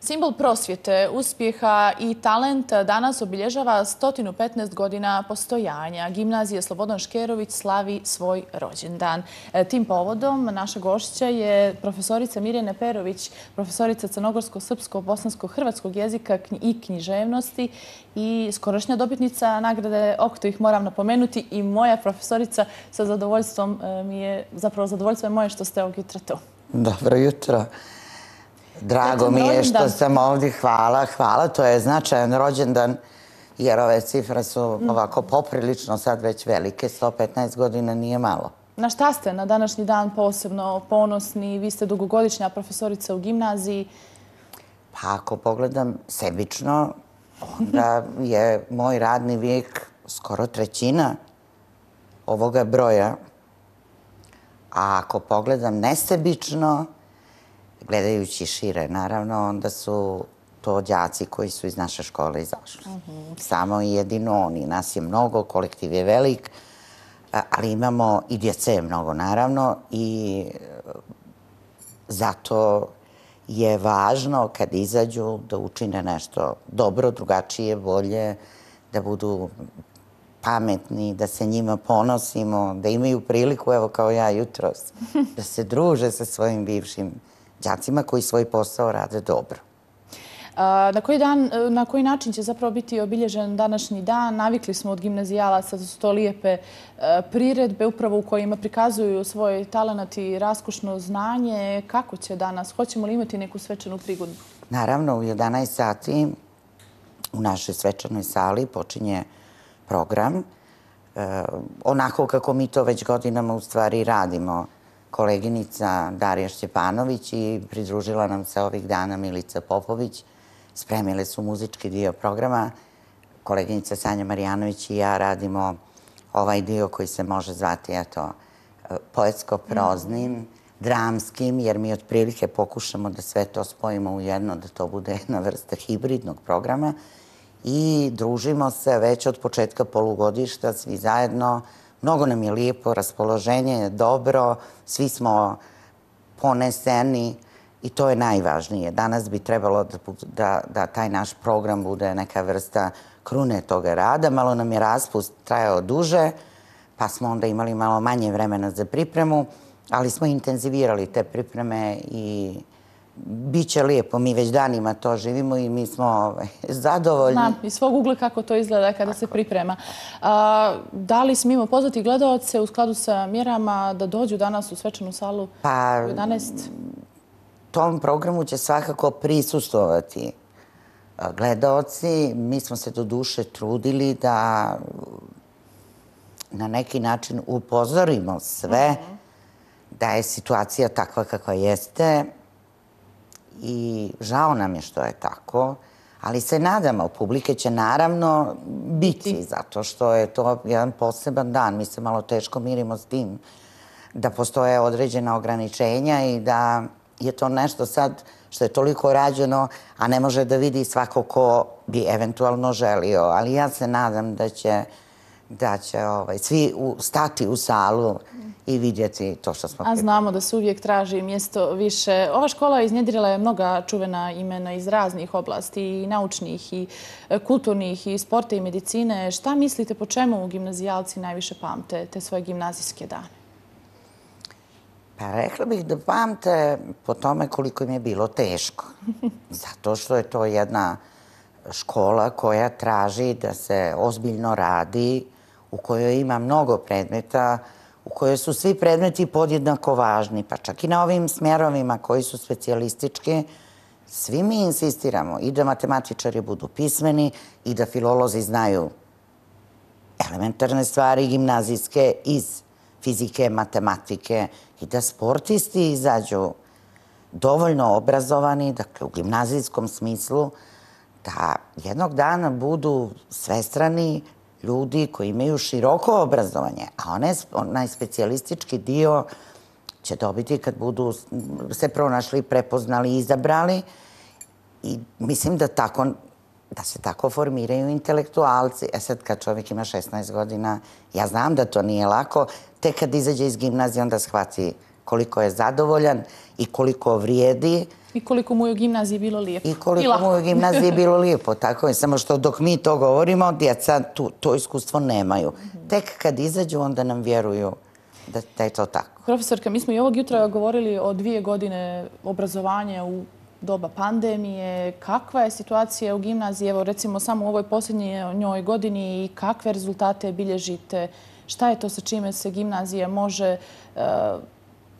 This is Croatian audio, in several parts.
Simbol prosvjete, uspjeha i talenta danas obilježava 115 godina postojanja. Gimnazija Slobodan Škerović slavi svoj rođendan. Tim povodom naša gošća je profesorica Mirjana Perović, profesorica crnogorsko-srpsko-bosansko-hrvatskog jezika i književnosti i skorašnja dobitnica nagrade Okto, ih moram napomenuti, i moja profesorica. Sa zadovoljstvom mi je, zapravo zadovoljstvo je moje što ste ovog jutra tu. Dobro jutro. Drago mi je što sam ovdje. Hvala. To je značajan rođendan jer ove cifre su ovako poprilično sad već velike. 115 godina nije malo. Na šta ste na današnji dan posebno ponosni? Vi ste dugogodišnja profesorica u gimnaziji. Pa ako pogledam sebično, onda je moj radni vijek skoro trećina ovoga broja. A ako pogledam nesebično, gledajući šire, naravno, onda su to đaci koji su iz naše škole izašli. Samo i jedino oni. Nas je mnogo, kolektiv je velik, ali imamo i djece mnogo, naravno, i zato je važno kad izađu da učine nešto dobro, drugačije, bolje, da budu pametni, da se njima ponosimo, da imaju priliku, evo kao ja jutros, da se druže sa svojim bivšim đacima koji svoj posao rade dobro. Na koji način će zapravo biti obilježen današnji dan? Navikli smo od gimnazijalaca da su to lijepe priredbe upravo u kojima prikazuju svoj talenat i raskušno znanje. Kako će danas? Hoćemo li imati neku svečanu prigodu? Naravno, u 11 sati u našoj svečanoj sali počinje program. Onako kako mi to već godinama u stvari radimo. Koleginica Darija Šćepanović i pridružila nam se ovih dana Milica Popović. Spremile su muzički dio programa. Koleginica Sanja Marijanović i ja radimo ovaj dio koji se može zvati poetsko-proznim, dramskim, jer mi otprilike pokušamo da sve to spojimo u jedno, da to bude jedna vrsta hibridnog programa. I družimo se već od početka polugodišta, svi zajedno. Mnogo nam je lijepo, raspoloženje je dobro, svi smo poneseni i to je najvažnije. Danas bi trebalo da taj naš program bude neka vrsta krune toga rada. Malo nam je raspust trajao duže, pa smo onda imali malo manje vremena za pripremu, ali smo intenzivirali te pripreme i bit će lijepo. Mi već danima to živimo i mi smo zadovoljni. Znam, iz svog ugla kako to izgleda kada se priprema. Da li smijemo pozvati gledaoce u skladu sa mjerama da dođu danas u svečanu salu u 11? Tom programu će svakako prisustvovati gledaoci. Mi smo se do duše trudili da na neki način upozorimo sve da je situacija takva kakva jeste. I žao nam je što je tako, ali se nadamo, publike će naravno biti, zato što je to jedan poseban dan. Mi se malo teško mirimo s tim da postoje određena ograničenja i da je to nešto sad što je toliko rađeno, a ne može da vidi svako ko bi eventualno želio. Ali ja se nadam da će svi stati u salu i vidjeti to što smo pripremili. A znamo da se uvijek traži mjesto više. Ova škola iznjedrila je mnoga čuvena imena iz raznih oblasti, i naučnih, i kulturnih, i sporta, i medicine. Šta mislite, po čemu gimnazijalci najviše pamte te svoje gimnazijske dane? Pa rekla bih da pamte po tome koliko im je bilo teško. Zato što je to jedna škola koja traži da se ozbiljno radi, u kojoj ima mnogo predmeta, u kojoj su svi predmeti podjednako važni, pa čak i na ovim smjerovima koji su specijalistički, svi mi insistiramo i da matematičari budu pismeni i da filolozi znaju elementarne stvari gimnazijske iz fizike, matematike i da sportisti izađu dovoljno obrazovani, dakle u gimnazijskom smislu, da jednog dana budu svestrani ljudi koji imaju široko obrazovanje, a onaj specijalistički dio će dobiti kad budu se pronašli, prepoznali, izabrali. I mislim da se tako formiraju intelektualci. Sad kad čovjek ima 16 godina, ja znam da to nije lako, tek kad izađe iz gimnazije onda shvati koliko je zadovoljan i koliko vrijedi I koliko mu je u gimnaziji bilo lijepo. I koliko mu je u gimnaziji bilo lijepo, tako je. Samo što dok mi to govorimo, djeca to iskustvo nemaju. Tek kad izađu, onda nam vjeruju da je to tako. Profesorka, mi smo i ovog jutra govorili o 2 godine obrazovanja u doba pandemije. Kakva je situacija u gimnaziji, evo recimo samo u ovoj posljednjoj godini i kakve rezultate bilježite? Šta je to sa čime se gimnazija može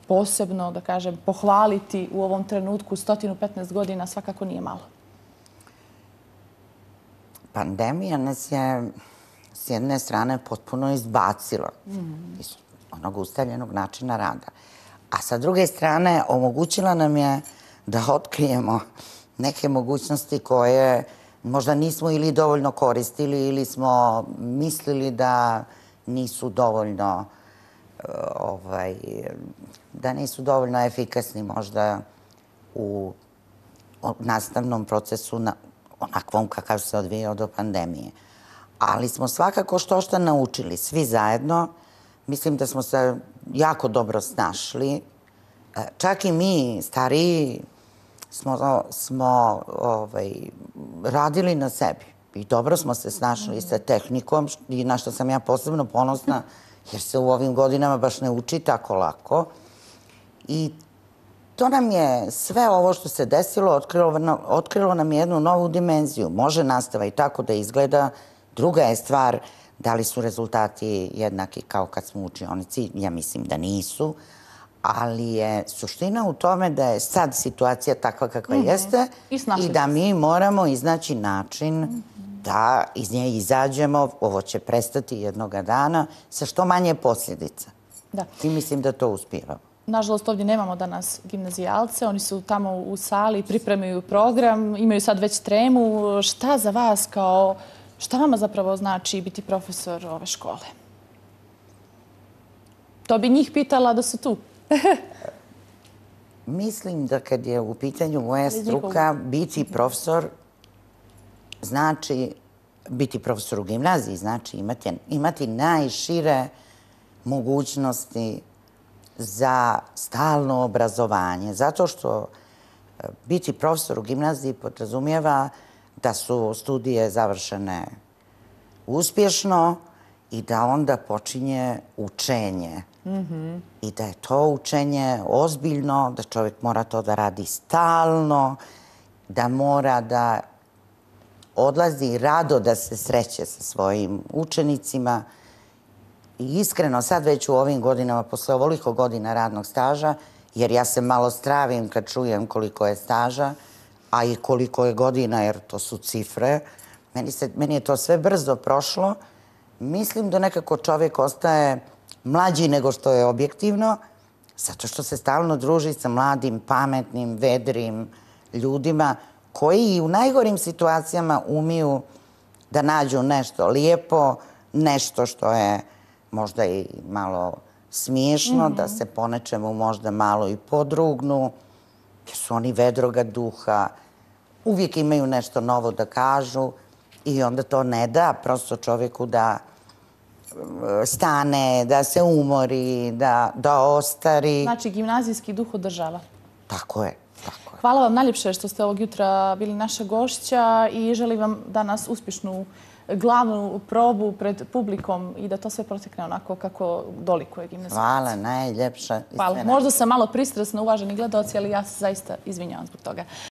posebno, da kažem, pohvaliti u ovom trenutku? 115 godina svakako nije malo. Pandemija nas je s jedne strane potpuno izbacila iz onog ustaljenog načina rada. A sa druge strane omogućila nam je da otkrijemo neke mogućnosti koje možda nismo ili dovoljno koristili ili smo mislili da nisu dovoljno efikasni možda u nastavnom procesu onakvom kakav se odvijao do pandemije. Ali smo svakako što naučili, svi zajedno. Mislim da smo se jako dobro snašli. Čak i mi, stariji, smo radili na sebi. I dobro smo se snašli sa tehnikom, i na što sam ja posebno ponosna, jer se u ovim godinama baš ne uči tako lako. I to nam je sve ovo što se desilo, otkrilo nam jednu novu dimenziju. Može nastava i tako da izgleda. Druga je stvar da li su rezultati jednaki kao kad smo u učionici. Ja mislim da nisu. Ali je suština u tome da je sad situacija takva kakva jeste i da mi moramo iznaći način da iz nje izađemo. Ovo će prestati jednoga dana sa što manje posljedica. I mislim da to uspijevamo. Nažalost, ovdje nemamo danas gimnazijalce. Oni su tamo u sali, pripremaju program, imaju sad već tremu. Šta za vas šta vama zapravo znači biti profesor ove škole? To bi njih pitala da su tu. Mislim da kad je u pitanju moja struka, biti profesor znači, biti profesor u gimnaziji znači imati najšire mogućnosti za stalno obrazovanje. Zato što biti profesor u gimnaziji podrazumijeva da su studije završene uspješno i da onda počinje učenje. I da je to učenje ozbiljno, da čovjek mora to da radi stalno, da mora da odlazi rado da se sreće sa svojim učenicima. I iskreno, sad već u ovim godinama, posle ovoliko godina radnog staža, jer ja se malo stravim kad čujem koliko je staža, a i koliko je godina, jer to su cifre, meni je to sve brzo prošlo. Mislim da nekako čovjek ostaje mlađi nego što je objektivno, zato što se stalno druži sa mladim, pametnim, vedrim ljudima koji i u najgorim situacijama umiju da nađu nešto lijepo, nešto što je možda i malo smiješno, da se po nečemu možda malo i podrugnu, jer su oni vedroga duha, uvijek imaju nešto novo da kažu i onda to ne da prosto čovjeku da stane, da se umori, da ostari. Znači, gimnazijski duh održava. Tako je. Hvala vam najljepše što ste ovog jutra bili naša gošća i želim vam danas uspješnu glavnu probu pred publikom i da to sve protekne onako kako dolikuje gimnazijalac. Hvala, najljepša. Hvala. Možda sam malo pristrasna, uvaženi gledalci, ali ja se zaista izvinjavam zbog toga.